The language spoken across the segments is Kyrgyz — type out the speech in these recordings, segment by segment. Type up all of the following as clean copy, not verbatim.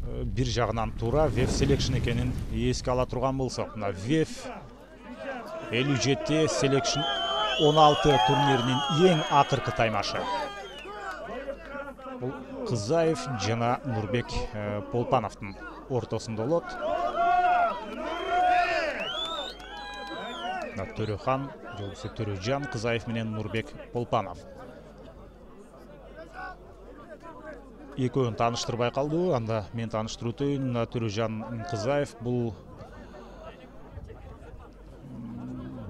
бир жагынан туура VEF Selection экенин эске ала турган болсок, мына VEF 57 Selection 16 турниринин эң акыркы таймашы. Бул Кызаев жана Нурбек Полпановдун ортосунда болот. Төрөхан, жолбусы Төрөжан, Кызаев менен Нурбек Полпанов. Экөөнү тааныштырбай калды, анда мен тааныштырып өтөйүн. Төрөжан Кызаев бул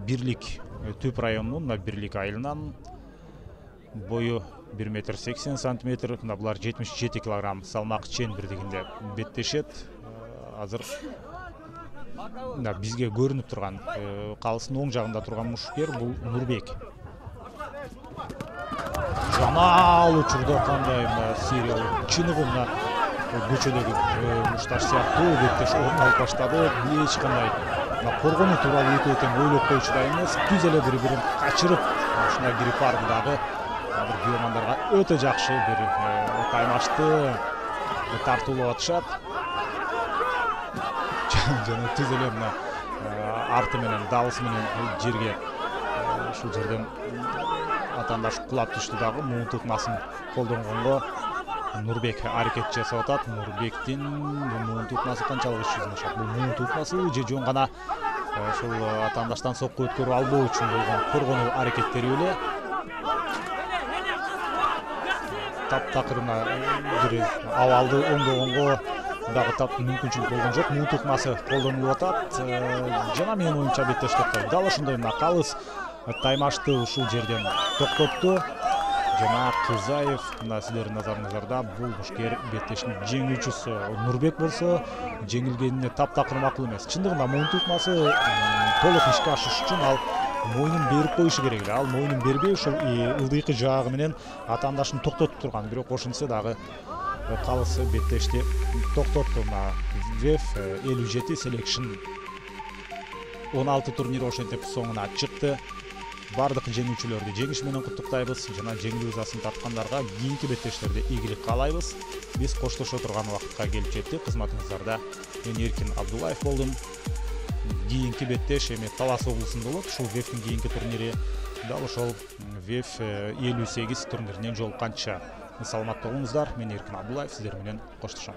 Бирлик Түп районунун Бирлик айылынан, бою 1,80 см, булар 77 кг салмак чен бирдигинде беттешет. Азыр бизге көрүнүп турган калыстын оң жагында турган мушкер бул Нурбек. Жамал учурда кандай сериялык чыныгы көчөдөгү мушташ сыяктуу беттеш орун алып баштады. Эч кандай коргонуу тууралуу өтө тең ойлоп коюучудай эмес, түз эле бири-бирин качырып, ушундай грипардагы күйөөмандарга өтө жакшы бир таймашты тартуулап атышат. Жана түз эле мына арты менен дабысы менен жерге ушул жерден атаандаш кулап түштү дагы. Муун тукмасын колдонгонго Нурбек аракет жасап атат. Нурбектин муун тукмасы канчалык иш жүзүнө чыгат? Бул муун тукмасы же жөн гана ушул атаандаштан сокку өткөрүп албоо үчүн болгон коргонуу аракеттери беле? Таптакыр бир абалды оңдогонго дагы тап мүмкүнчүлүк болгон жок. Муун тукмасы колдонулуп атат. Жана менин оюмча беттеш токтойт. Дал ошондой калыс таймашты ушул жерден токтотту. Жана Кызаев сиздердин назарыңыздарда бул мушкер беттештин жеңүүчүсү. Нурбек болсо жеңилгенине таптакыр макул эмес. Чындыгында муун тукмасы толук ишке ашыш үчүн ал моюнун берип коюшу керек эле. Ал моюнун бербей ушул ылдыйкы жаагы менен атаандашын токтотуп турган. Бирок ошентсе дагы калысы беттешти токтотту. VEF 57 Selection 16 турнир ошентип соңуна чыкты. Бардык жеңүүчүлөрдү жеңиш менен куттуктайбыз. Жана жеңүү ызасын тарткандарга кийинки беттештерде ийгилик каалайбыз. Биз коштошо турган убакытка келип жеттик. Кызматыңыздарда мен Эркин Абдуллаев болдум. Кийинки беттеш эми Талас облусунда болот. Ушул VEF'тин кийинки турнири дал ошол VEF 58 турниринен жолукканча саламатта болуңуздар. Мен Эркин Абдуллаев сиздер менен коштошом.